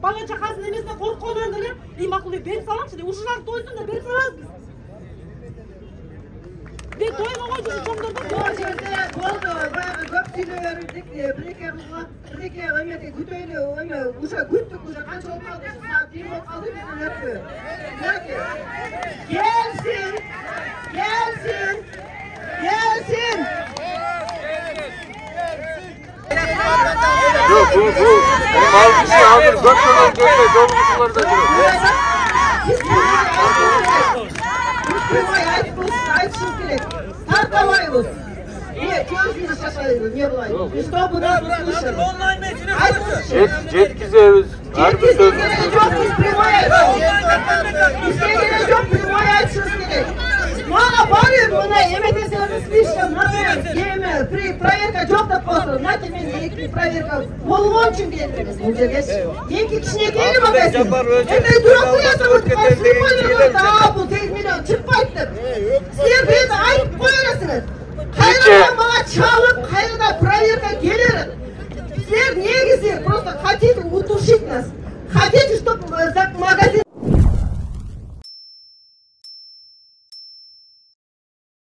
бала чакасынын эмесинен коркконун деле макул берип саламчы деп ушуларды тойсун деп берип салабыз. Мен тойго койчу чоңдордо бул жерде болду. Баягы көп сүйлөп бердик. Бир-эки эмети күтөйлү, эме уже күттүк, уже канча болуп калды? Саат 1 болуп калды, бизден өтпү. Келсин. Yok bu mavzisi hazır gökdelen gelme dolmuşlarda duruyor. Айтышыбыз керек. Тартабайбыз. Көзүбүздү шашайбыз, не булай. Чтобы нас услышали. Жеткизебиз. Ар бир сөзүн жок, биз прямой айтабыз. Бизге керек жок, прямой айтышыбыз керек. Мага барып мына эметесеңиз спишка, эме проверка жок деп коесуз. Знаете, мен эки проверка болгон үчүн келдим бул жерге. Эки кичинекей багасыз. Эме дурак ясап бул 8 миллион чыкпайт деп. Силер бизди айтып коерсиңер. Кайрадан мага чалып, кайрадан проверка келер. Силер негизи просто хотите утушить нас. Хотите, чтобы магазин